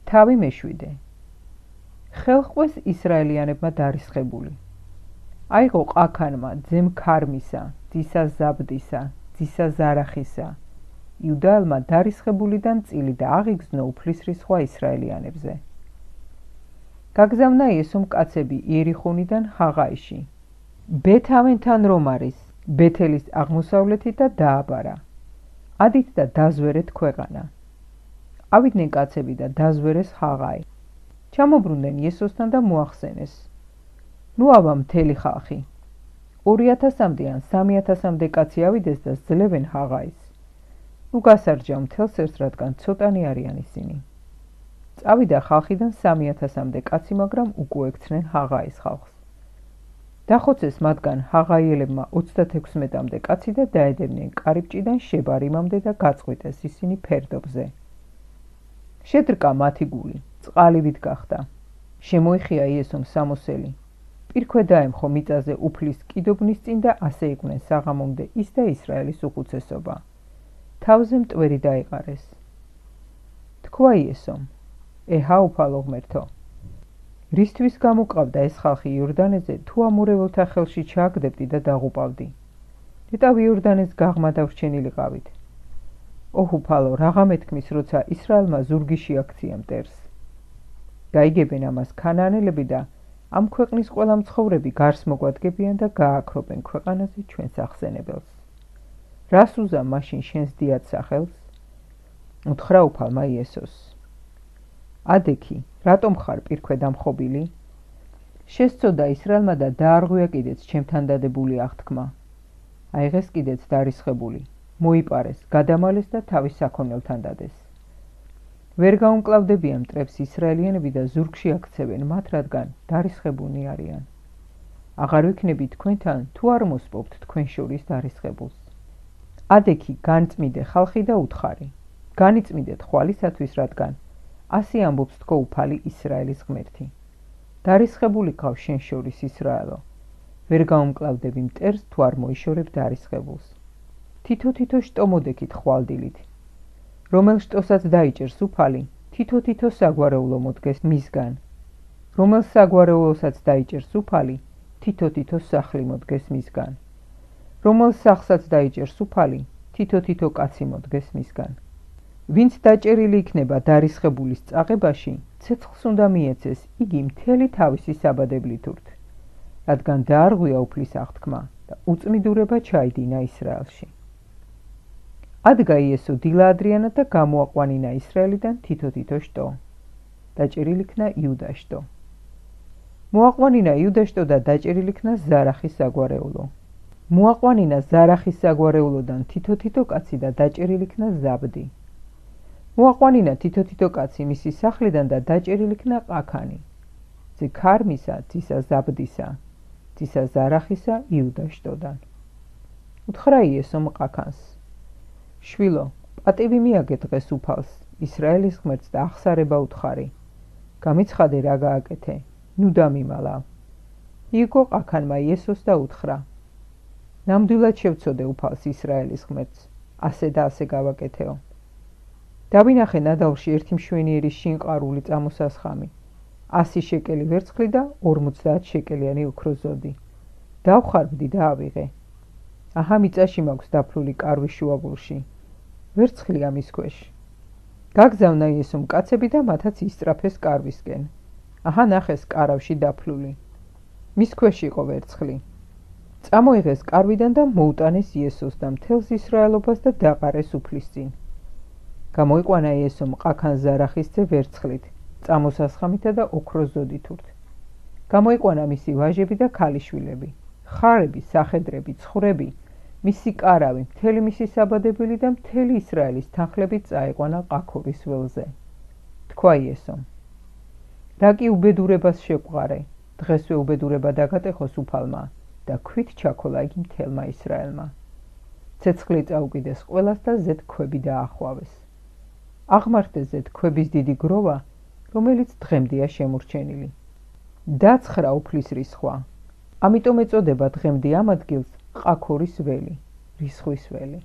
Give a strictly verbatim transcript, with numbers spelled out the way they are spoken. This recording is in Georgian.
თავი მეშვიდე. ხელყვეს ისრაელიანებმა დარისხებული. აიღო ყაქანმა ძემ ქარმისა, ძისა ზაბდისა, ძისა ზარახისა. იუდაელმა დარისხებულიდან წილი და აღიგზნო უფლის რისხვა ისრაელიანებზე. გაგზავნა იესომ კაცები იერიხონიდან ჰაღაიში. ბეთ-ავენთან რომ არის, ბეთელის აღმოსავლეთით და დააბარა. ადით და დაზვერეთ ქვეყანა. ავიდნენ კაცები და დაზვერეს ჰაღაი. ჩამობრუნდნენ იესოსთან და მოახსენეს. ნუ ავა მთელი ხალხი. ორი ათასამდე ან სამი ათასამდე კაცი ავიდეს და ძლევენ ჰაღაის. ნუ გასარჯავ მთელს ერთს, რადგან ცოტანი არიან ისინი. წავიდა ხალხიდან სამი ათასამდე კაცი, მაგრამ უკუექცნენ ჰაღაის ხალხს. დახოცეს მათგან ჰაღაიელებმა ოცდათექვსმეტამდე კაცი და დაედევნენ კარიბჭიდან შებარიმამდე და გაწყვიტეს ისინი ფერდობზე. შედრკა მათი გული, წყალივით გახდა. შემოიხია იესომ სამოსელი. პირქვე დაემხო მიწაზე უფლის კიდობნის წინ და ასე იყვნენ საღამომდე ის და ისრაელის უხუცესობა. თავზე მტვერი დაიყარეს. თქვა იესომ, ეჰა უფალო ღმერთო, რისთვის გამოყავდა ეს ხალხი იორდანეზე, თუ ამორეველთა ხელში ჩააგდებდი და დაღუპავდი. ნეტავ იორდანეს გაღმა დავრჩენილიყავით. ოჰ უფალო, რაღა მეთქმის, როცა ისრაელმა ზურგი შეაქცია მტერს. გაიგებენ ამას ქანაანელები და ამ ქვეყნის ყველა მცხოვრები გარს მოგვადგებიან და გააქრობენ ქვეყანაზე ჩვენს ახსენებელს. რას უზა მაშინ შენს დიად სახელს? უთხრა უფალმა იესოს. ადექი, რატომ ხარ პირქვე დამხობილი? შესწოდა ისრაელმა და დაარღვია კიდეც ჩემთან დადებული აღთქმა. აიღეს კიდეც დარისხებული, მოიპარეს, გადამალეს და თავის საქონელთან დადეს. ვერ გაუმკლავდებიან მტრებს ისრაელიანები და ზურგში აქცევენ მათ, რადგან დარისხებულნი არიან. აღარ ვიქნები თქვენთან, თუ არ მოსპობთ თქვენ შორის დარისხებულს. ადექი, განწმიდე ხალხი და უთხარი. განიწმიდეთ ხვალისათვის, რადგან ასე ამბობს თქო უფალი ისრაელის ღმერთი. დარისხებული ყავს შენ შორის ისრაელო. ვერ გაუმკლავდები მტერს, თუ არ მოიშორებ დარისხებულს. თითო-თითო შტო მოდექით ხვალდილით. რომელ შტოსაც დაიჭერს უფალი, თითო-თითო საგვარეულო მოდგეს მისგან. რომელ საგვარეულოსაც დაიჭერს უფალი, თითო-თითო სახლი მოდგეს მისგან. რომელ სახლსაც დაიჭერს უფალი, თითო-თითო კაცი მოდგეს მისგან. ვინც დაჭერილი იქნება დარისხებულის წაღებაში, ცეცხლს უნდა მიეცეს იგი მთელი თავისი საბადებლით ურთ, რადგან დაარღვია უფლის აღთქმა და უწმიდურება ჩაიდინა ისრაელში. ადგა იესო დილა ადრიანად და გამოაყვანინა ისრაელიდან თითო-თითო შტო. დაჭერილი იქნა იუდა შტო. მოაყვანინა იუდა შტო და დაჭერილი იქნა ზარახის საგვარეულო. მოაყვანინა ზარახის საგვარეულოდან თითო-თითო კაცი და დაჭერილი იქნა ზაბდი. მოაყვანინა თითო-თითო კაცი მისი სახლიდან და დაჭერილი იქნა ყაქანი. ძე ქარმისა, ძისა ზაბდისა, ძისა ზარახისა იუდა შტოდან. უთხრა იესომ ყაქანს. შვილო, პატივი მიაგე დღეს უფალს, ისრაელის ღმერთს და აღსარება უთხარი. გამიცხადე რა გააკეთე, ნუ დამიმალა. მიიგო ყაქანმა იესოს და უთხრა. ნამდვილად შევწოდე უფალს ისრაელის ღმერთს, ასე და ასე გავაკეთეო. დავინახე ნადავლში ერთი მშვენიერი შინყარული წამოსასხამი, ასი შეკელი ვერცხლი და ორმოცდაათ შეკელიანი ოქროს ზოდი. დავხარბდი და ავიღე. აჰა მიწაში მაქვს დაფლული კარვის შუაგულში. ვერცხლი ამის ქვეშ. გაგზავნა იესომ კაცები და მათაც ისწრაფეს კარვისკენ. აჰა ნახეს კარავში დაფლული. მის ქვეშ იყო ვერცხლი. წამოიღეს კარვიდან და მოუტანეს იესოს და მთელს ისრაელობას და დაყარეს უფლის წინ. გამოიყვანა იესომ ყაქან ზარახის ძე ვერცხლით, წამოსასხამითა და ოქროს ზოდით ურთ. გამოიყვანა მისი ვაჟები და ქალიშვილები, ხარები, სახედრები, ცხვრები, მისი კარავი, მთელი მისი საბადებელი და მთელი ისრაელის თანხლებით წაიყვანა ყაქორის ველზე. თქვა იესომ, რა კი უბედურებას შეგვყარე, დღესვე უბედურება დაგატეხოს უფალმა და ქვით ჩაქოლა იგი მთელმა ისრაელმა. ცეცხლი წაუკიდეს ყველას და ზედ ქვები დაახვავეს. აღმართეს ზედ ქვების დიდი გროვა, რომელიც დღემდეა შემორჩენილი. დაცხრა უფლის რისხვა. ამიტომ ეწოდება დღემდე ამ ადგილს ყაქორის ველი, რისხვის ველი.